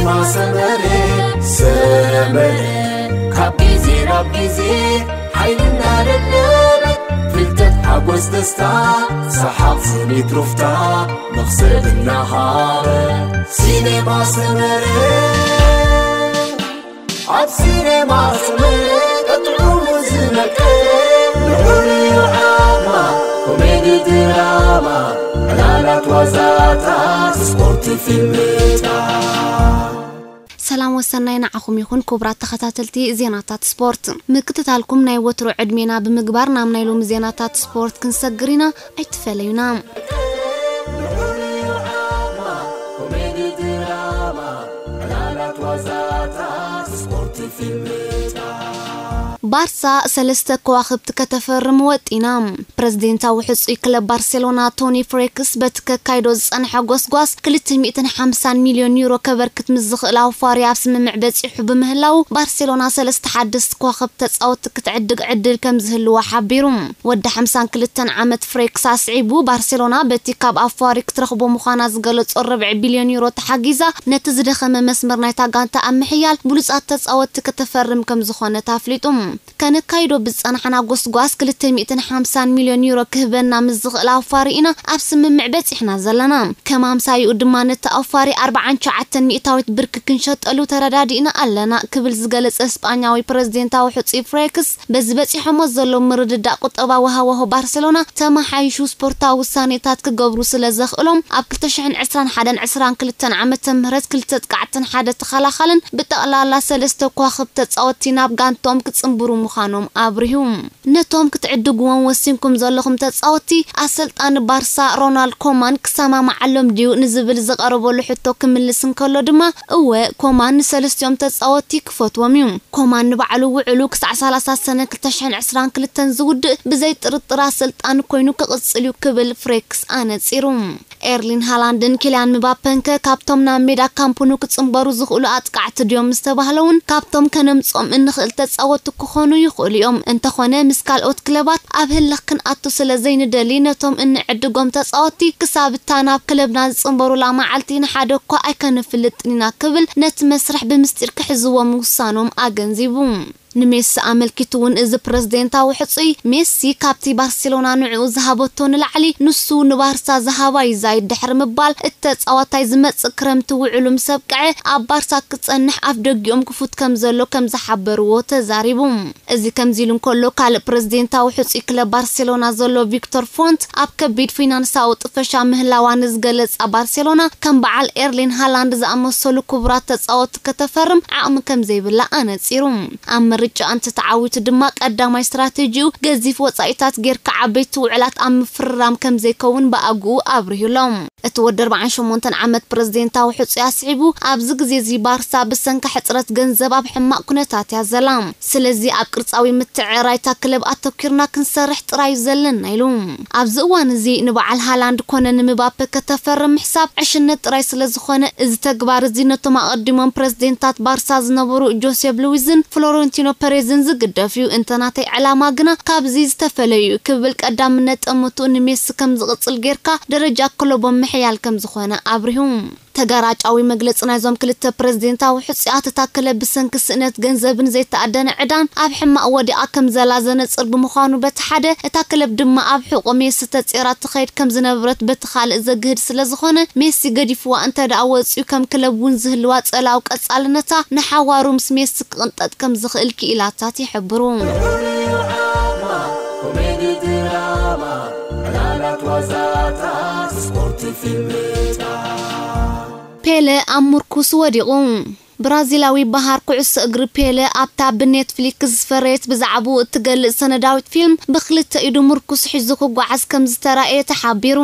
ሰመረ ሰመረ ካብ ግዜ ናብ ግዜ ሓይልና ደደበ ፍልጠት ሓጎስ ደስታ ሰሓቕ ስኒት ሩፍታ መኽሰብ እናሃበ ሲኔማ ሰመረ ኣብ ሲኔማ ሰመረ ቀጥዑ ዝነቀ ንዑ ዓማ ኮሜዲ ድራማ ዕላላት ዋዛታት ስፖርት ፊልምታ ሰላም ወሰናይ ንዓኹም ይኹን ክቡራት ተኸታተልቲ ዜናታት ስፖርት። ምክትታልኩም ናይ ወትሮ ዕድሜና ብምግባር ናብ ናይ ሎሚ ዜናታት ስፖርት ክንሰግር ኢና። ኣይትፈለዩና። ባርሳ ሰለስተ ከዋኽብቲ ከተፈርም ወጢና። ፕረዚደንታዊ ሕጹይ ክለብ ባርሴሎና ቶኒ ፍሬክስ በቲ ከካይዶ ዝጸንሐ ጎስጓስ ክልተ ሚእትን ሓምሳን ሚልዮን ዩሮ ከበርክት ምስ ዝኽእል ኣውፋሪ ኣብ ስምምዕ በጺሑ ብምህላው ባርሴሎና ሰለስተ ሓደስቲ ከዋኽብቲ ተጻወትቲ ክትዕድግ ዕድል ከም ዝህልዋ ሓቢሩ። ወዲ ሓምሳን ክልተን ዓመት ፍሬክስ ኣስዒቡ ባርሴሎና በቲ ካብ ኣፋሪ ክትረኽቦ ምዃና ዝገለጾ ርብዒ ቢልዮን ዩሮ ተሓጊዛ ነቲ ዝደኸመ መስመር ናይታ ጋንታ ኣብ ምሕያል ብሉጻት ተጻወትቲ ከተፈርም ከም ዝኾነት ኣፍሊጡ። ከነካይዶ ብዝጸናሕና ጎስጓስ ክልተ ሚእትን ሓምሳን ሚልዮን ዩሮ ክህበና ምስ ዝኽእል ኣፋሪ ኢና ኣብ ስምምዕ በጺሕና ዘለና። ከም ኣምሳይኡ ድማ ነቲ ኣፋሪ ኣርብዓን ትሽዓተን ሚእታዊት ብርኪ ክንሸጠሉ ተረዳዲእና ኣለና ክብል ዝገለጸ እስጳኛዊ ፕረዚደንታዊ ሕጹይ ፍሬክስ በዚ በጺሖሞ ዘለዉ ምርድዳእ ቁጠባዊ ሃዋሁ ባርሴሎና ተመሓይሹ ስፖርታዊ ውሳኔታት ክገብሩ ስለ ዘኽእሎም ኣብ ክልተ ሽሕን ዕስራን ሓደን ዕስራን ክልተን ዓመተ ምህረት ክልተ ኣጥቃዕትን ሓደ ተኸላኻልን ብጠቕላላ ሰለስተ ከዋኽብቲ ተጻወትቲ ናብ ጋንትኦም ክጽንብሩ ምዃኖም ኣብሪሁ። ነቶም ክትዕድግዎም ወሲንኩም ዘለኹም ተጻወትቲ ኣሰልጣኒ ባርሳ ሮናልድ ኮማን ክሰማማዓሎም ድዩ ንዝብል ዝቐረበሉ ሕቶ ክምልስ እንከሎ ድማ እወ ኮማን ንሰለስቲኦም ተጻወትቲ ክፈትዎም እዩ። ኮማን ንባዕሉ ውዕሉ ክሳዕ ሰላሳ ሰነ ክልተ ሽሕን ዕስራን ክልተን ዝውድእ ብዘይ ጥርጥር ኣሰልጣኒ ኮይኑ ክቕጽል እዩ ክብል ፍሬክስ ኣነጺሩ። ኤርሊን ሃላንድን ኪልያን ምባፐንከ ካብቶም ናብ ሜዳ ካምፕኑ ክጽንበሩ ዝኽእሉ ኣጥቃዕቲ ድዮም ዝተባህለ እውን ካብቶም ከነምጾም እንኽእል ተጻወቱ ክኾኑ ይኽእሉ እዮም። እንተኾነ ምስ ካልኦት ክለባት ኣብ ህልኽ ክንኣቱ ስለ ዘይንደሊ ነቶም እንዕድጎም ተጻወቲ ክሳብ እታ ናብ ክለብና ዝጽንበሩላ መዓልቲ ንሓደ እኳ ኣይከነፍልጥን ኢና ክብል ነቲ መስርሕ ብምስጢር ክሕዝዎ ምውሳኖም ኣገንዚቡ። ንሜሲ ኣመልኪቱ እውን እዚ ፕረዚደንታዊ ሕጹይ ሜሲ ካብቲ ባርሴሎና ንዕኡ ዝሃበቶ ንላዕሊ ንሱ ንባርሳ ዝሃባ ይዛይድ ድሕሪ ምባል እቲ ተጻዋታይ ዝመጽእ ክረምቲ ውዕሉ ምስ ኣብቅዐ ኣብ ባርሳ ክጸንሕ ኣፍ ደጊኦም ክፉት ከም ዘሎ ከም ዝሓበርዎ ተዛሪቡ። እዚ ከምዚ ኢሉ እንከሎ ካልእ ፕረዚደንታዊ ሕጹይ ክለብ ባርሴሎና ዘሎ ቪክቶር ፎንት ኣብ ከቢድ ፊናንሳዊ ጥፈሻ ምህላዋ ንዝገለጻ ባርሴሎና ከም በዓል ኤርሊን ሃላንድ ዝኣመሰሉ ክቡራት ተጻወቲ ከተፈርም ዓቕሚ ከም ዘይብላ ኣነጺሩ። ኣብ ምርጫ እንተተዓዊቱ ድማ ቀዳማይ ስትራቴጂኡ ገዚፍ ወጻኢታት ጌርካ ዓበይቲ ውዕላት ኣብ ምፍርራም ከም ዘይከውን ብኣግኡ ኣብሪሁሎም። እቲ ወዲ ኣርባዓን ሸሞንተን ዓመት ፕረዚደንታዊ ሕጹይ ኣስዒቡ ኣብዚ ግዜ እዚ ባርሳ ብሰንኪ ሕጽረት ገንዘብ ኣብ ሕማቕ ኩነታት እያ ዘላ። ስለዚ ኣብ ቅርጻዊ ምትዕርራይ እታ ክለብ ኣተኪርና ክንሰርሕ ጥራይ እዩ ዘለና ኢሉ። ኣብዚ እዋን እዚ ንበዓል ሃላንድ ኮነ ንምባፔ ከተፈርም ምሕሳብ ዕሽነት ጥራይ ስለ ዝኾነ እዚ ተግባር እዚ ነቶም ኣቐዲሞም ፕረዚደንታት ባርሳ ዝነበሩ ጆሴፍ ሉዊዝን ፍሎረንቲኖ ፐሬዝን ዝግደፍ እዩ። እንተ ናተይ ዕላማ ግና ካብዚ ዝተፈለዩ እዩ ክብል ቀዳምነት ጠመትኡ ንሜሲ ከም ዝቕጽል ጌርካ ደረጃ ክለቦም ምሕያል ከም ዝኾነ ኣብሪሁ። ተጋራጫዊ መግለጺ ናይዞም ክልተ ፕረዚደንታዊ ሕጹያት እታ ክለብ ብሰንኪ ስእነት ገንዘብን ዘይተኣደነ ዕዳን ኣብ ሕማቕ ወዲቓ ከም ዘላ ዘነጽር ብምዃኑ በቲ ሓደ እታ ክለብ ድማ ኣብ ሕቖ ሜሲ ተጼራ ትኸይድ ከም ዝነበረት በቲ ካልእ ዘግህድ ስለ ዝኾነ ሜሲ ገዲፍዋ እንተ ደኣ ወጺኡ ከም ክለብ እውን ዝህልዋ ጸላዊ ቀጻልነታ ንሓዋሩ ምስ ሜሲ ክቕንጠጥ ከም ዝኽእል ክኢላታት ይሕብሩ። ኮሜዲ ድራማ ዕላላት ዋዛታት ስፖርት ፊልምታ ፔለ ኣብ ምርኩስ ወዲቑ። ብራዚላዊ በሃር ኩዕሶ እግሪ ፔለ ኣብታ ብኔትፍሊክስ ዝፈረየት ብዛዕባኡ እትገልጽ ሰነዳዊት ፊልም ብክልተ ኢዱ ምርኩስ ሒዙ ክጓዓዝ ከም ዝተራእየ ተሓቢሩ።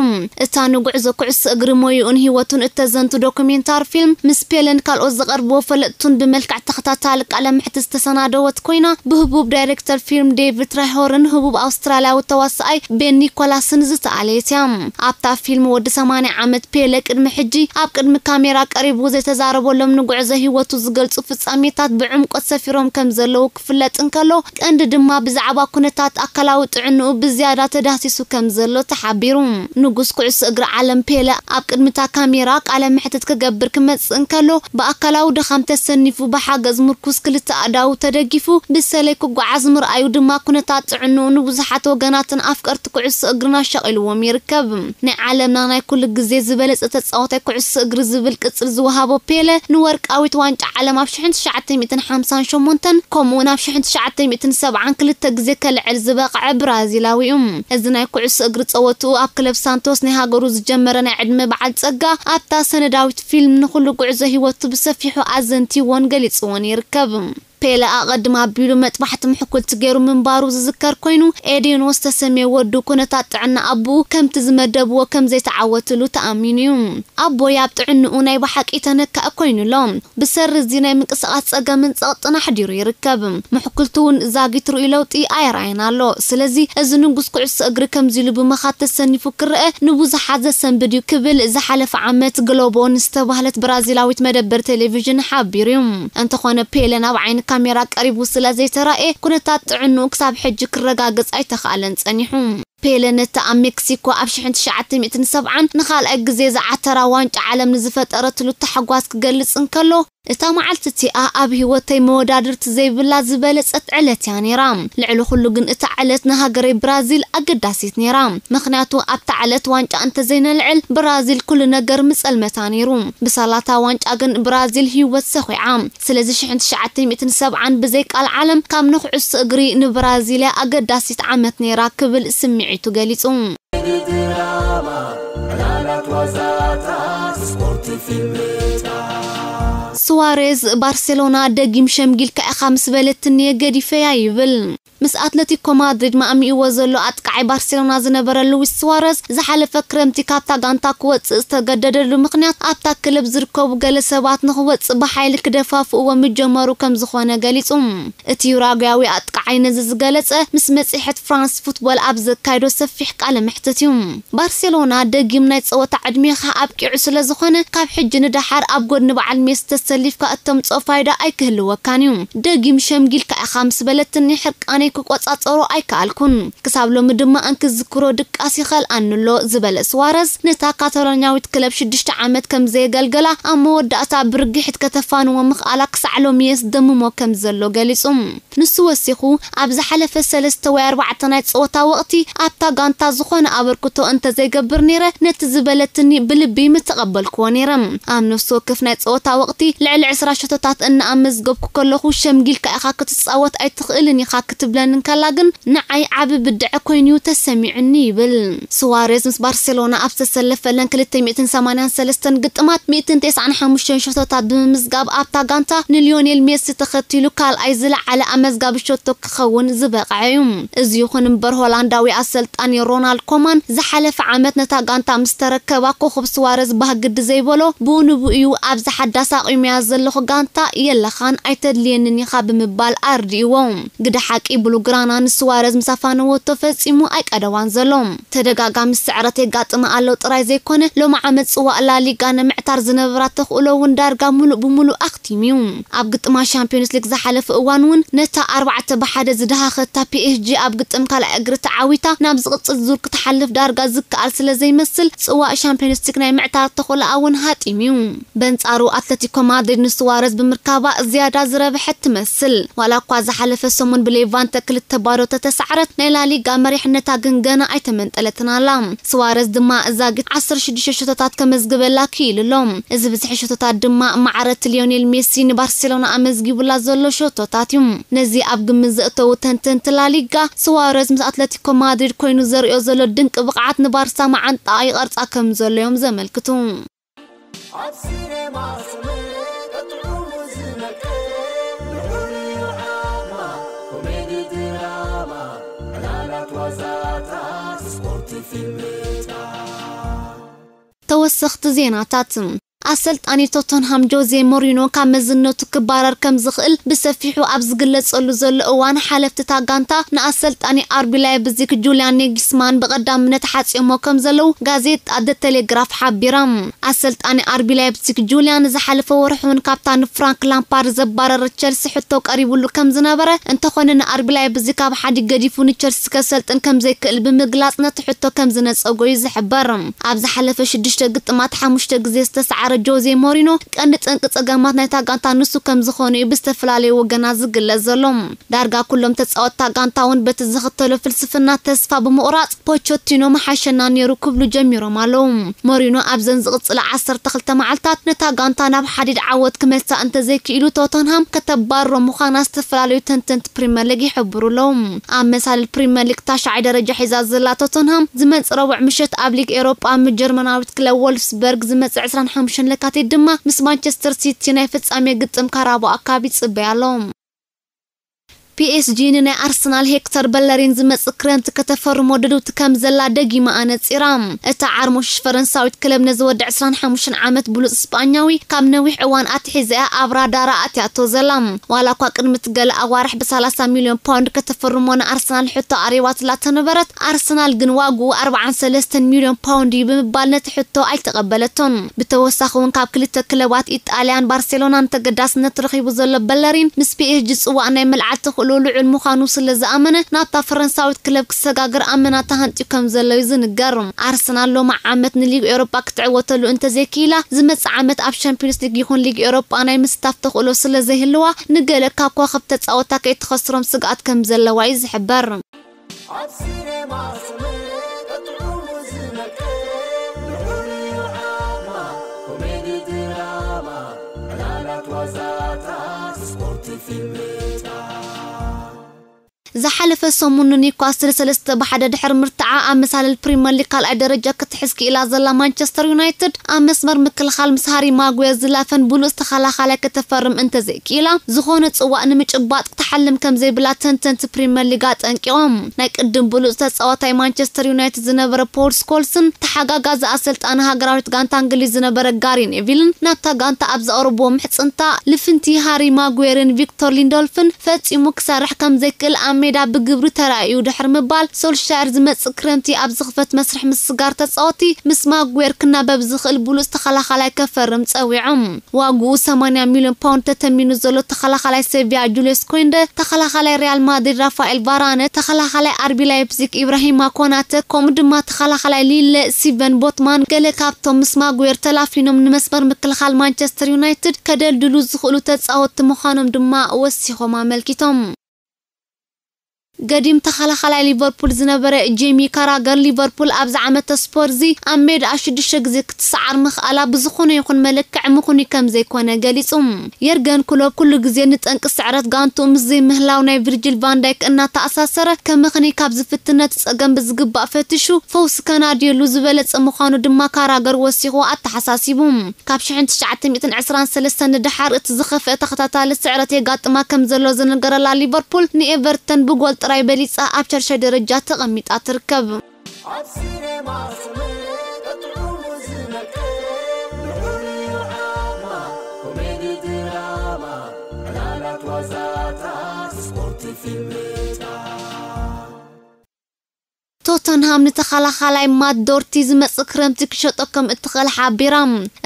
እታ ንጉዕዞ ኩዕሶ እግሪ ሞይኡን ህይወቱን እተዘንቱ ዶኩሜንታሪ ፊልም ምስ ፔለን ካልኦት ዝቐርብዎ ፈለጥቱን ብመልክዕ ተኸታታሊ ቃለ መሕትት ዝተሰናደወት ኮይና ብህቡብ ዳይሬክተር ፊልም ዴቪድ ትራይሆርን ህቡብ ኣውስትራልያዊ ተዋሳኣይ ቤን ኒኮላስን ዝተኣለየት እያ። ኣብታ ፊልም ወዲ ሰማንያ ዓመት ፔለ ቅድሚ ሕጂ ኣብ ቅድሚ ካሜራ ቀሪቡ ዘይተዛረበሎም ንጉዕዞ ህይወቱ ዝገልጹ ፍጻሜታት ብዕምቆት ሰፊሮም ከም ዘለዉ ክፍለጥ እንከሎ፣ ቀንዲ ድማ ብዛዕባ ኩነታት ኣካላዊ ጥዕንኡ ብዝያዳ ተዳህሲሱ ከም ዘሎ ተሓቢሩ። ንጉስ ኩዕሶ እግሪ ዓለም ፔለ ኣብ ቅድሚታ ካሜራ ቃለ መሕትት ክገብር ክመጽእ እንከሎ፣ ብኣካላዊ ድኻም ተሰኒፉ ብሓገዝ ምርኩስ ክልተ ኣእዳዉ ተደጊፉ ብሰለይ ክጓዓዝ ምርኣዩ ድማ ኩነታት ጥዕንኡ ንብዙሓት ወገናትን ኣፍቀርቲ ኩዕሶ እግርን ኣሻቒልዎም ይርከብ። ናይ ዓለምና ናይ ኩሉ ግዜ ዝበለጸ ተጻዋታይ ኩዕሶ እግሪ ዝብል ቅጽል ዝወሃቦ ፔለ፣ ንወርቃዊት ዋንጫ ዓለም ኣብ ሽሕን ትሽዓተ ሚእትን ሓምሳን ሸሞንተን ከምኡውን ኣብ ሽሕን ትሽዓተ ሚእትን ሰብዓን ክልተ ግዜ ከልዕል ዝበቕዐ ብራዚላዊ እዩ። እዚ ናይ ኩዕሶ እግሪ ጸወትኡ ኣብ ክለብ ሳንቶስ ናይ ሃገሩ ዝጀመረ ናይ ዕድመ በዓል ጸጋ፣ ኣብታ ሰነዳዊት ፊልም ንኹሉ ጉዕዞ ህይወቱ ብሰፊሑ ኣዘንቲዎን ገሊጽዎን ይርከብ። ፔለ ኣቐድም ኣቢሉ መጥባሕቲ ምሕኩልቲ ገይሩ ምንባሩ ዝዝከር ኮይኑ፣ ኤዴኖ ዝተሰምየ ወዱ ኩነታት ጥዕና ኣቦኡ ከምቲ ዝመደብዎ ከም ዘይተዓወትሉ ተኣሚኑ እዩ። ኣቦይ ኣብ ጥዕንኡ ናይ ብሓቂ ተነካእ ኮይኑ ኣሎ። ብሰሪ እዚ ናይ ምንቅስቓስ ጸገምን ጸቕጥን ኣሕዲሩ ይርከብ። ምሕኩልቲ እውን ዛጊት ርእዩ ለውጢ ኣይረኣየን ኣሎ። ስለዚ እዚ ንጉስ ኩዕሶ እግሪ ከምዚ ኢሉ ብምኻድ ተሰኒፉ ክረአ ንብዙሓት ዘሰንብድ እዩ ክብል ዝሓለፈ ዓመት ግሎቦ ንዝተባህለት ብራዚላዊት መደበር ቴሌቪዥን ሓቢሩ እዩ። እንተኾነ ፔለ ናብ ዓይኒ ካሜራ ቀሪቡ ስለ ዘይተራእየ ኩነታት ጥዕንኡ ክሳብ ሕጂ ክረጋገጽ ኣይተኻእለን ጸኒሑ። ፔለ ነቲ ኣብ ሜክሲኮ ኣብ ሽሕን ትሽዓተ ሚእትን ሰብዓን ንኻልኣይ ግዜ ዝዓተራ ዋንጫ ዓለም ንዝፈጠረትሉ ታሕጓስ ክገልጽ እንከሎ፣ እታ መዓልቲ እቲኣ ኣብ ህይወተይ መወዳድርቲ ዘይብላ ዝበለጸት ዕለት እያ ነይራ። ልዕሊ ኩሉ ግን እታ ዕለት ንሃገረይ ብራዚል ኣገዳሲት ነይራ። ምኽንያቱ ኣብታ ዕለት ዋንጫ እንተዘይነልዕል ብራዚል ኩሉ ነገር ምጸልመታ ነይሩ። ብሳላታ ዋንጫ ግን ብራዚል ህይወት ሰኺዓ። ስለዚ ሽሕን ትሽዓተ ሚእትን ሰብዓን ብዘይ ቃል ዓለም ካብ ንኩዕሶ እግሪ ንብራዚል እያ ኣገዳሲት ዓመት ነይራ ክብል ስምዒቱ ገሊጹ። ድራማ፣ ዕላላት ዋዛታት፣ ስፖርት ፊልምታት። ስዋሬዝ፣ ባርሴሎና ደጊም ሸምጊልካ ኢኻ ምስ በለትኒ ገዲፈያ ይብል። ምስ ኣትለቲኮ ማድሪድ ማእሚእዎ ዘሎ ኣጥቃዓይ ባርሴሎና ዝነበረ ሉዊስ ስዋረዝ ዝሓለፈ ክረምቲ ካብታ ጋንታ ክወጽእ ዝተገደደሉ ምኽንያት ኣብታ ክለብ ዝርከቡ ገለ ሰባት ንኽወጽእ ብሓይሊ ክደፋፍእዎ ምጀመሩ ከም ዝኾነ ገሊጹ። እቲ ዩራጓያዊ ኣጥቃዓይ ነዚ ዝገለጸ ምስ መጽሔት ፍራንስ ፉትቦል ኣብ ዘካየዶ ሰፊሕ ቃለ መሕትት እዩ። ባርሴሎና ደጊም ናይ ጸወታ ዕድሜኻ ኣብቂዑ ስለ ዝኾነ ካብ ሕጂ ንደሓር ኣብ ጎድኒ በዓል ሜሲ ተሰሊፍካ እተምጽኦ ፋይዳ ኣይክህልወካን እዩ። ደጊም ሸምጊልካ ኢኻ ምስ በለትኒ ሕርቃነይ ክቆጻጸሮ ኣይከኣልኩን። ክሳብ ሎሚ ድማ እንክዝክሮ ድቃስ ይኸልኣኒ ኣሎ ዝበለ ስዋረዝ ነታ ካታሎኛዊት ክለብ ሽዱሽተ ዓመት ከም ዘየገልገላ ኣብ መወዳእታ ብርግሒት ከተፋንዎ ምኽኣላ ክሳዕ ሎሚ የስደምሞ ከም ዘሎ ገሊጹ። ንሱ ወሲኹ፣ ኣብ ዝሓለፈ ሰለስተ ወይ ኣርባዕተ ናይ ጸወታ ወቕቲ ኣብታ ጋንታ ዝኾነ ኣበርክቶ እንተዘይገብር ነይረ፣ ነቲ ዝበለትኒ ብልቢ ምተቐበልክዎ ነይረ። ኣብ ነፍሲ ወከፍ ናይ ጸወታ ወቕቲ ልዕሊ ዕስራ ሸቶታት እናኣመዝገብኩ ከለኹ፣ ሸምጊልካ ኢኻ ክትጻወት ኣይትኽእልን ኢኻ ክትብለኒ እንከላ ግን ንዓይ ዓቢ ብድዐ ኮይኑ'ዩ ተሰሚዑኒ ይብል። ስዋሬዝ ምስ ባርሴሎና ኣብ ዝተሰለፈለን ክልተ ሚእትን ሰማንያን ሰለስተን ግጥማት ሚእትን ተስዓን ሓሙሽተን ሸቶታት ብምምዝጋብ ኣብታ ጋንታ ንሊዮኔል ሜሲ ተኸቲሉ ካልኣይ ዝለዓለ ኣመዝጋቢ ሸቶ ክኸውን ዝበቕዐ እዩ። እዚ ይኹን እምበር ሆላንዳዊ ኣሰልጣኒ ሮናልድ ኮማን ዝሓለፈ ዓመት ነታ ጋንታ ምስ ተረከባ ኮኸብ ስዋረዝ ባህግዲ ዘይበሎ ብኡ ንብኡ እዩ ኣብዚ ሓዳስ ኣቑመያ ዘለኹ ጋንታ የለኻን ኣይተድልየንን ኢኻ ብምባል ኣርዲእዎ። ግደ ሓቂ ብሉግራና ንስዋረዝ ምስ ኣፋነወቶ ፈጺሙ ኣይቀደዋን ዘሎ። ተደጋጋሚ ስዕረት የጋጥማ ኣሎ ጥራይ ዘይኮነ ሎሚ ዓመት ጽዋእ ላሊጋ ንምዕታር ዝነበራ ተኽእሎ እውን ዳርጋ ሙሉእ ብሙሉእ ኣኽቲሙ እዩ። ኣብ ግጥማ ሻምፒዮንስ ሊግ ዝሓለፈ እዋን እውን ነታ ኣርባዕተ ብሓደ ዝደሃኸታ ፒኤስጂ ኣብ ግጥም ካልኣይ እግሪ ተዓዊታ ናብ ዝቕጽል ዙር ክትሓልፍ ዳርጋ ዝከኣል ስለ ዘይመስል ጽዋእ ሻምፒዮንስ ሊግ ናይ ምዕታር ተኽእሎኣ እውን ሃጢሙ እዩ። በንጻሩ ኣትለቲኮ ማድሪድ ንስዋረዝ ብምርካባ ዝያዳ ዝረብሐት ትመስል። ዋላ እኳ ዝሓለፈ ሰሙን ብሌቫንተ ክልተ ባዶ ተተሳዕረት ናይ ላሊጋ መሪሕነታ ግን ገና ኣይተመንጠለትን ኣላ። ስዋረዝ ድማ እዛ ግጥም ዓሰርተ ሽዱሽተ ሸቶታት ከመዝግበላ ክኢሉ ኣሎ። እዚ ብዝሒ ሸቶታት ድማ ማዕረቲ ሊዮኔል ሜሲ ንባርሴሎና ኣመዝጊቡላ ዘሎ ሸቶታት እዩ። ነዚ ኣብ ግምት ዘእተዉ ተንተንቲ ላሊጋ ስዋረዝ ምስ ኣትለቲኮ ማድሪድ ኮይኑ ዘርእዮ ዘሎ ድንቂ ብቕዓት ንባርሳ መዓንጣኣ ይቐርጻ ከም ዘሎ እዮም ዘመልክቱ። ኣብ ሲኔማ ዝመረቀ ጥዑሙ ዝመቀ ልዑል ዓማ ኮሜዲ ድራማ ዕላላት ዋዛታት ስፖርት ፊልምታት። ተወሰኽቲ ዜናታት። ኣሰልጣኒ ቶተንሃም ጆዜ ሞሪኖ ካብ መዝነቱ ክባረር ከም ዝኽእል ብሰፊሑ ኣብ ዝግለጸሉ ዘሎ እዋን፣ ሓለፍቲ እታ ጋንታ ንኣሰልጣኒ ኣርቢ ላይፕዚግ ጁልያን ኔግስማን ብቐዳምነት ሓጺኦሞ ከም ዘለዉ ጋዜጣ ደ ቴሌግራፍ ሓቢራ። ኣሰልጣኒ ኣርቢ ላይፕዚግ ጁልያን ዝሓለፈ ወርሒ እውን ካብታ ንፍራንክ ላምፓርድ ዘባረረ ቸልሲ ሕቶ ቀሪቡሉ ከም ዝነበረ፣ እንተኾነ ንኣርቢ ላይፕዚግ ካብ ሓዲ ገዲፉ ንቸልሲ ከሰልጥን ከም ዘይክእል ብምግላጽ ነቲ ሕቶ ከም ዝነጸጎ እዩ ዝሕበር። ኣብ ዝሓለፈ ሽዱሽተ ግጥማት ሓሙሽተ ግዜ ዝተሰዓረ ጆዜ ሞሪኖ ቀንዲ ጠንቂ ጸገማት ናይታ ጋንታ ንሱ ከም ዝኾነ እዩ ብዝተፈላለዩ ወገናት ዝግለጽ ዘሎ። ዳርጋ ኩሎም ተጻወትታ ጋንታ እውን በቲ ዝኽተሎ ፍልስፍና ተስፋ ብምቑራጽ ፖቾቲኖ ምሓሸና ነይሩ ክብሉ ጀሚሮም ኣለዉ። ሞሪኖ ኣብዘን ዝቕጽላ ዓሰርተ ክልተ መዓልታት ነታ ጋንታ ናብ ሓዲድ ዓወት ክመልሳ እንተዘይክኢሉ ቶተንሃም ከተባርሮ ምዃና ዝተፈላለዩ ተንተንቲ ፕሪምየር ሊግ ይሕብሩ ኣለዉ። ኣብ መሳልል ፕሪምየር ሊግ ታሽዓይ ደረጃ ሒዛ ዘላ ቶተንሃም ዝመጽእ ረቡዕ ምሸት ኣብ ሊግ ኤውሮጳ ምስ ጀርመናዊት ክለብ ወልፍስበርግ ዝመጽእ ዕስራን ሓሙሽተን ለካቲት ድማ ምስ ማንቸስተር ሲቲ ናይ ፍጻሜ ግጥም ካራባኦ ካፕ ይጽበያ ኣሎ። ፒኤስጂ ንናይ ኣርሰናል ሄክተር በለሪን ዝመጽእ ክረምቲ ከተፈርሞ ድልውቲ ከም ዘላ ደጊማ ኣነጺራ። እታ ዓርሞሽ ፈረንሳዊት ክለብ ነዚ ወዲ ዕስራን ሓሙሽተን ዓመት ብሉጽ ስጳኛዊ ካብ ነዊሕ እዋን ኣትሒዛ እያ ኣብ ራዳራ ኣትያቶ ዘላ። ዋላ እኳ ቅድሚ እቲ ገለ ኣዋርሕ ብሰላሳ ሚልዮን ፓውንድ ከተፈርሞ ንኣርሰናል ሕቶ ኣቕሪባትላ ተነበረት፣ ኣርሰናል ግን ዋግኡ ኣርባዓን ሰለስተን ሚልዮን ፓውንድ እዩ ብምባል ነቲ ሕቶ ኣይተቐበለቶን። ብተወሳኺ እውን ካብ ክልተ ክለባት ኢጣልያን ባርሴሎናን ተገዳስነት ረኺቡ ዘሎ በለሪን ምስ ፒኤስጂ ጽዋእ ናይ ምልዓል ተኽእሎ ልዑል ምዃኑ ስለ ዝኣመነ ናብታ ፈረንሳዊት ክለብ ክሰጋገር ኣመና ተሃንጥዩ ከም ዘሎ እዩ ዝንገር። ኣርሰናል ሎሚ ዓመት ንሊግ ኤውሮጳ ክትዕወተሉ እንተዘይክኢላ ዝመጽእ ዓመት ኣብ ሻምፒዮንስ ሊግ ይኹን ሊግ ኤውሮጳ ናይ ምስታፍ ተኽእሎ ስለ ዘይህልዋ ንገለ ካብ ከዋኽብቲ ተጻወትታ ከይትኸስሮም ስግኣት ከም ዘለዋ እዩ ዝሕበር። ኣብ ሲኔማ ስምዒት ጥዑሙ ዝመልክት ብሕሩይ ዓማ ኮሜዲ ድራማ ዕላላት ዋዛታት ስፖርት ፊልምታት። ዝሓለፈ ሰሙን ንኒውካስል ሰለስተ ብሓደ ድሕሪ ምርትዓ ኣብ መሳልል ፕሪምየር ሊግ ካልኣይ ደረጃ ክትሕዝ ክኢላ ዘላ ማንቸስተር ዩናይትድ ኣብ መስመር ምክልኻል ምስ ሃሪ ማጉየር ዝላፈን ብሉጽ ተኸላኻላይ ከተፈርም እንተዘይክኢላ ዝኾነ ጽዋእ ንምጭባጥ ክትሓልም ከም ዘይብላ ተንተንቲ ፕሪምየር ሊግ ኣጠንቂቖም። ናይ ቅድም ብሉጽ ተጻዋታይ ማንቸስተር ዩናይትድ ዝነበረ ፖል ስኮልስን ተሓጋጋዚ ኣሰልጣኒ ሃገራዊት ጋንታ እንግሊዝ ዝነበረ ጋሪ ኔቪልን ናብታ ጋንታ ኣብ ዘቕረብዎ ምሕጽንታ ልፍንቲ ሃሪ ማጉየርን ቪክቶር ሊንዶልፍን ፈጺሙ ክሰርሕ ከም ዘይክእል ኣብ ሜዳ ብግብሪ ተራእዩ ድሕሪ ምባል ሶልሻየር ዝመጽእ ክረምቲ ኣብ ዝኽፈት መስርሕ ምስጋር ተጻወቲ ምስ ማጉየር ክናበብ ዝኽእል ብሉጽ ተኸላኻላይ ከፈርም ጸዊዖም። ዋግኡ ሰማንያ ሚልዮን ፓውንድ ተተሚኑ ዘሎ ተኸላኻላይ ሴቪያ ጁልዮስ ኮይንደ፣ ተኸላኻላይ ሪያል ማድሪድ ራፋኤል ቫራነ፣ ተኸላኻላይ ኣርቢ ላይፕዚግ ኢብራሂማ ኮናተ፣ ከምኡ ድማ ተኸላኻላይ ሊለ ስቲቨን ቦትማን ገለ ካብቶም ምስ ማጉዌር ተላፊኖም ንመስመር ምክልኻል ማንቸስተር ዩናይትድ ከደልድሉ ዝኽእሉ ተጻወትቲ ምዃኖም ድማ ወሲኾም ኣመልኪቶም። ገዲም ተኸላኻላይ ሊቨርፑል ዝነበረ ጄሚ ካራገር፣ ሊቨርፑል ኣብዚ ዓመተ ስፖርዚ ኣብ ሜዳኣ ሽዱሽተ ግዜ ክትሰዓር ምኽኣላ ብዝኾነ ይኹን መለክዒ ምኽኑይ ከም ዘይኮነ ገሊጹ። የርገን ክሎፕ ኩሉ ግዜ ንጠንቂ ስዕረት ጋንትኡ ምስ ዘይምህላው ናይ ቪርጂል ቫን ዳይክ እናተኣሳሰረ ከመኽንይ ካብ ዝፍትን ነቲ ጸገም ብዝግባእ ፈቲሹ ፈውሲ ከናድየሉ ዝበለጸ ምዃኑ ድማ ካራገር ወሲኹ ኣተሓሳሲቡ። ካብ ሽሕን ትሽዓተ ሚእትን ዕስራን ሰለስተን ንደሓር እቲ ዝኸፍአ ተኸታታሊ ስዕረት የጋጥማ ከም ዘሎ ዝነገረላ ሊቨርፑል ንኤቨርተን ብጎል ጥራይ በሊጻ ኣብ ሻድሻይ ደረጃ ተቐሚጣ ትርከብ። ኣብ ሲኔማ ስምዒት ጥዑሙ ዝመልክት ብሕሩይ ዓማ ኮሜዲ ድራማ ዕላላት ዋዛታት ስፖርት ፊልምታት። ቶተንሃም ንተኸላኻላይ ማት ዶርቲ ዝመጽእ ክረምቲ ክሸጦ ከም እትኽእል ሓቢራ።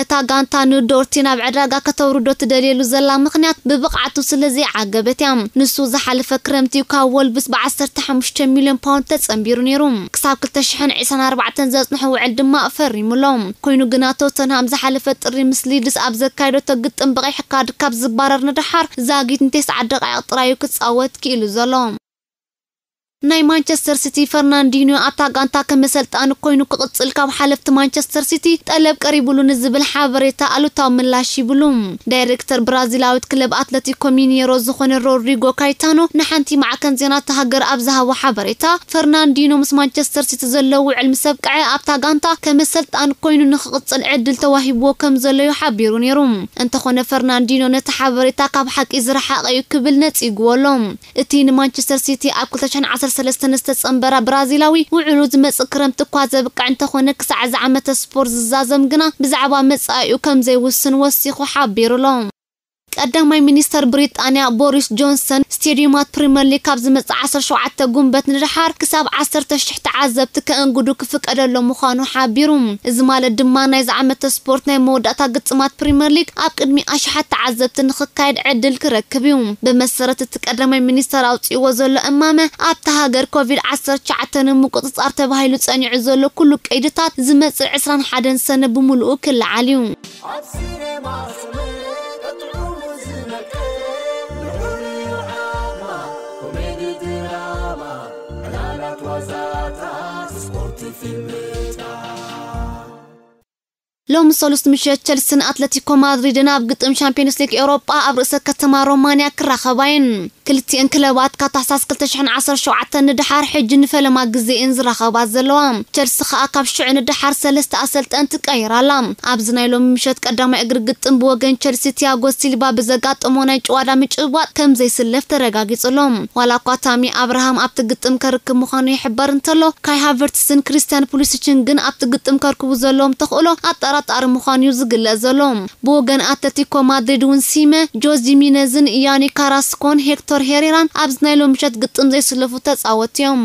እታ ጋንታ ንዶርቲ ናብ ዕዳጋ ከተውርዶ ትደልየሉ ዘላ ምኽንያት ብብቕዓቱ ስለ ዘይዓገበት እያ። ንሱ ዝሓለፈ ክረምቲ ካብ ወልቭስ ብ ዓሰርተ ሓሙሽተ ሚልዮን ፓውንድ ተጸንቢሩ ነይሩ። ክሳብ ክልተ ሽሕን ዕስራን ኣርባዕተን ዘጽንሖ ውዕል ድማ ፈሪሙ ኣሎ። ኮይኑ ግና ቶተንሃም ዝሓለፈ ጥሪ ምስ ሊድስ ኣብ ዘካየደቶ ግጥም ብቐይሕ ካርድ ካብ ዝባረር ንደሓር ዛጊት ንተስዓ ደቓይቕ ጥራዩ ክጻወት ክኢሉ ዘሎ። ናይ ማንቸስተር ሲቲ ፈርናንዲኖ ኣብታ ጋንታ ከም ኣሰልጣኒ ኮይኑ ክቕጽል ካብ ሓለፍቲ ማንቸስተር ሲቲ ጠለብ ቀሪቡሉ ንዝብል ሓበሬታ ኣሉታዊ ምላሽ ይብሉ። ዳይሬክተር ብራዚላዊት ክለብ ኣትለቲኮ ሚኔሮ ዝኾነ ሮድሪጎ ካይታኖ ንሓንቲ ማዕከን ዜና እታ ሃገር ኣብ ዝሃቦ ሓበሬታ፣ ፈርናንዲኖ ምስ ማንቸስተር ሲቲ ዘለዎ ውዕል ምስ ኣብቅዐ ኣብታ ጋንታ ከም ኣሰልጣኒ ኮይኑ ንኽቕጽል ዕድል ተዋሂብዎ ከም ዘሎ እዩ ሓቢሩ ነይሩ። እንተኾነ ፈርናንዲኖ ነቲ ሓበሬታ ካብ ሓቂ ዝረሓቐ እዩ ክብል ነጺግዎ ኣሎ። እቲ ንማንቸስተር ሲቲ ኣብ ክልተ ሽሕን ዓሰርተ ሰለስተ ንዝተጸንበራ ብራዚላዊ፣ ውዕሉ ዝመጽእ ክረምቲ እኳ ዘብቅዕ እንተኾነ፣ ክሳዕ እዚ ዓመተ ስፖርት ዝዛዘም ግና ብዛዕባ መጻኢኡ ከም ዘይውስን ወሲኹ ሓቢሩ ኣሎ። ቀዳማይ ሚኒስተር ብሪጣንያ ቦሪስ ጆንሰን፣ ስቴድዩማት ፕሪምየር ሊግ ካብ ዝመጽእ ዓሰርተ ሸውዓተ ጉንበት ንደሓር ክሳብ ዓሰርተ ሽሕ ተዓዘብቲ ከእንግዱ ክፍቀደሎም ምዃኑ ሓቢሩ። እዚ ማለት ድማ ናይዚ ዓመተ ስፖርት ናይ መወዳእታ ግጥማት ፕሪምየር ሊግ ኣብ ቅድሚ ኣሽሓት ተዓዘብቲ ንኽካየድ ዕድል ክረክብ እዩ። ብመሰረት እቲ ቀዳማይ ሚኒስተር ኣውጺእዎ ዘሎ እማመ፣ ኣብታ ሃገር ኮቪድ ዓሰርተ ትሽዓተ ንምቁጽጻር ተባሂሉ ጸኒዑ ዘሎ ኩሉ ቀይድታት ዝመጽእ ዕስራን ሓደን ሰነ ብምሉኡ ክለዓል እዩ። ኣብ ሲኔማ ስምዒት ጥዑሙ ዝነቅል፣ ንዑ ርኢዩ ዓማ፣ ኮሜዲ ድራማ፣ ዕላላት ዋዛታት፣ ስፖርት ፊልምታት። ሎሚ ሰሉስ ምሸት ቸልስን ኣትለቲኮ ማድሪድን ኣብ ግጥም ሻምፒዮንስ ሊግ ኤውሮጳ ኣብ ርእሰ ከተማ ሮማንያ ክራኸባ እየን። ክልቲኤን ክለባት ካብ ታሕሳስ ክልተ ሽሕን ዓሰርተ ሸውዓተን ንደሓር ሕጂ ንፈለማ ግዜ እየን ዝራኸባ ዘለዋ። ቸልሲ ከኣ ካብ ሽዑ ንደሓር ሰለስተ ኣሰልጠንቲ ቀይራ ኣላ። ኣብዚ ናይ ሎሚ ምሸት ቀዳማይ እግሪ ግጥም ብወገን ቸልሲ ቲያጎ ሲልቫ ብዘጋጠሞ ናይ ጭዋዳ ምጭብባጥ ከም ዘይስለፍ ተረጋጊጹ ኣሎ። ዋላ እኳ ታሚ ኣብርሃም ኣብቲ ግጥም ከርክብ ምዃኑ ይሕበር እንተሎ፣ ካይ ሃቨርትስን ክሪስቲያን ፑሊሲችን ግን ኣብቲ ግጥም ከርክቡ ዘለዎም ተኽእሎ ኣጠራጣሪ ምዃኑ እዩ ዝግለጽ ዘሎ። ብወገን ኣትለቲኮ ማድሪድ እውን ሲመ፣ ጆዝ ጂሚነዝን ያኒ ካራስኮን ሄክቶር ሄሬራን ኣብዚ ናይ ሎሚ ምሸት ግጥም ዘይስለፉ ተጻወትቲ እዮም።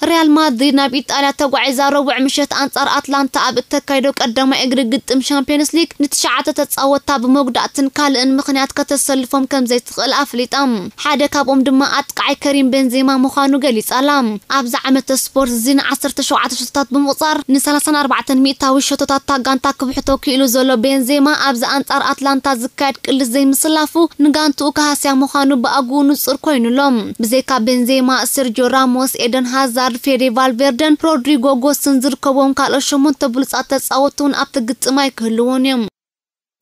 ሪያል ማድሪድ ናብ ኢጣልያ ተጓዒዛ ረቡዕ ምሸት ኣንጻር ኣትላንታ ኣብ እተካይዶ ቀዳማይ እግሪ ግጥም ሻምፒዮንስ ሊግ ንትሽዓተ ተጻወትታ ብመጉዳእትን ካልእን ምኽንያት ከተሰልፎም ከም ዘይትኽእል ኣፍሊጣ። ሓደ ካብኦም ድማ ኣጥቃዓይ ከሪም ቤንዜማ ምዃኑ ገሊጻ ኣላ። ኣብዚ ዓመተ ስፖርት እዚ ንዓሰርተ ሸውዓተ ሸቶታት ብምቑጻር ንሰላሳን ኣርባዕተን ሚእታዊ ሸቶታት እታ ጋንታ ክብሕቶ ክኢሉ ዘሎ ቤንዜማ፣ ኣብዚ ኣንጻር ኣትላንታ ዝካየድ ቅልስ ዘይምስላፉ ንጋንትኡ ክሃስያ ምዃኑ ብኣግኡ ንጹር ኮይኑ ኣሎ። ብዘይካ ቤንዜማ፣ ሰርጂዮ ራሞስ፣ ኤደን ሃዛርድ፣ ፌዴ ቫልቬርደን ሮድሪጎ ጎስን ዝርከብዎም ካልኦት ሸሞንተ ብሉጻት ተጻወትቲ እውን ኣብቲ ግጥም ኣይክህልዉን እዮም።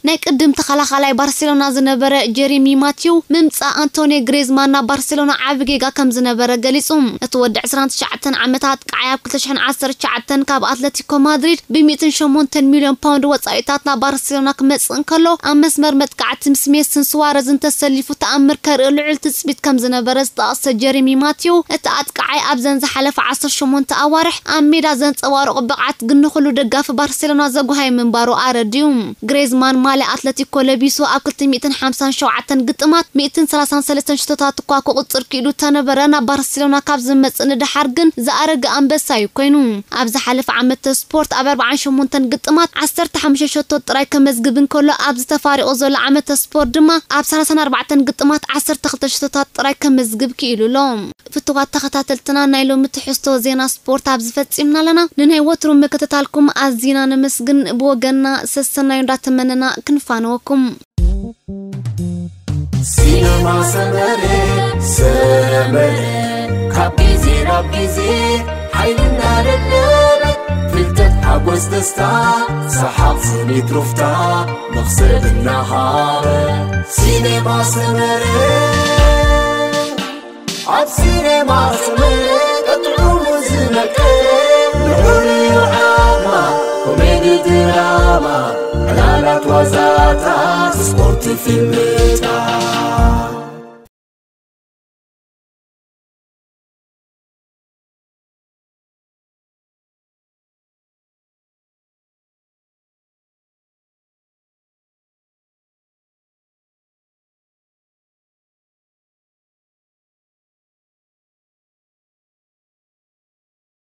ናይ ቅድም ተኸላኻላይ ባርሴሎና ዝነበረ ጀሪሚ ማቲው ምምጻእ ኣንቶኒ ግሬዝማን ናብ ባርሴሎና ዓቢ ጌጋ ከም ዝነበረ ገሊጹ። እቲ ወዲ ዕስራን ትሽዓተን ዓመታት ኣጥቃዓይ ኣብ ክልተ ሽሕን ዓሰርተ ትሽዓተን ካብ ኣትለቲኮ ማድሪድ ብ ሚእትን ሸሞንተን ሚልዮን ፓውንድ ወጻኢታት ናብ ባርሴሎና ክመጽእ እንከሎ፣ ኣብ መስመር መጥቃዕቲ ምስ ሜስን ስዋረዝን ተሰሊፉ ተኣምር ከርኢ ልዑል ትጽቢት ከም ዝነበረ ዝጠቐሰ ጀሪሚ ማቲው፣ እቲ ኣጥቃዓይ ኣብዘን ዝሓለፈ ዓሰርተ ሸሞንተ ኣዋርሕ ኣብ ሜዳ ዘንጸባረቖ ብቕዓት ግን ንኹሉ ደጋፊ ባርሴሎና ዘጉሃየ ምንባሩ ኣረዲኡ። ግሬዝማን ማልያ ኣትለቲኮ ለቢሱ ኣብ ክልተ ሚእትን ሓምሳን ሸውዓተን ግጥማት ሚእትን ሰላሳን ሰለስተን ሽቶታት እኳ ክቑጽር ክኢሉ ተነበረ፣ ናብ ባርሴሎና ካብ ዝመጽእ ንደሓር ግን ዝኣረገ ኣንበሳ እዩ ኮይኑ። ኣብ ዝሓለፈ ዓመተ ስፖርት ኣብ ኣርባዓን ሸሞንተን ግጥማት ዓሰርተ ሓሙሽተ ሸቶ ጥራይ ከመዝግብ እንከሎ፣ ኣብዚ ተፋሪቑ ዘሎ ዓመተ ስፖርት ድማ ኣብ ሰላሳን ኣርባዕተን ግጥማት ዓሰርተ ክልተ ሸቶታት ጥራይ ከመዝግብ ክኢሉ ኣሎ። ፍቱዋት ተኸታተልትና፣ ናይ ሎሚ ትሕዝቶ ዜና ስፖርት ኣብዚ ፈጺምና ኣለና። ንናይ ወትሩ ምክትታልኩም ኣዚና ነመስግን። ብወገንና ሰሰናዩ እንዳተመነና ክንፋነወኩም። ሲነማ ሰመረ፣ ሰመረ፣ ካብ ግዜ ናብ ግዜ ሓይልና ደለበ፣ ፍልጠት ሓጎስ ደስታ፣ ሰሓቕ ስኒት ሩፍታ፣ መኽሰብ እናሃበ። ሲነማ ሰመረ፣ ኣብ ሲነማ ሰመረ፣ ጥዑሙ ዝነቅል፣ ንዑ ርኢዩ ዓማ፣ ኮሜዲ ድራማ፣ ዕላላት ዋዛታት፣ ስፖርት ፊልምታት።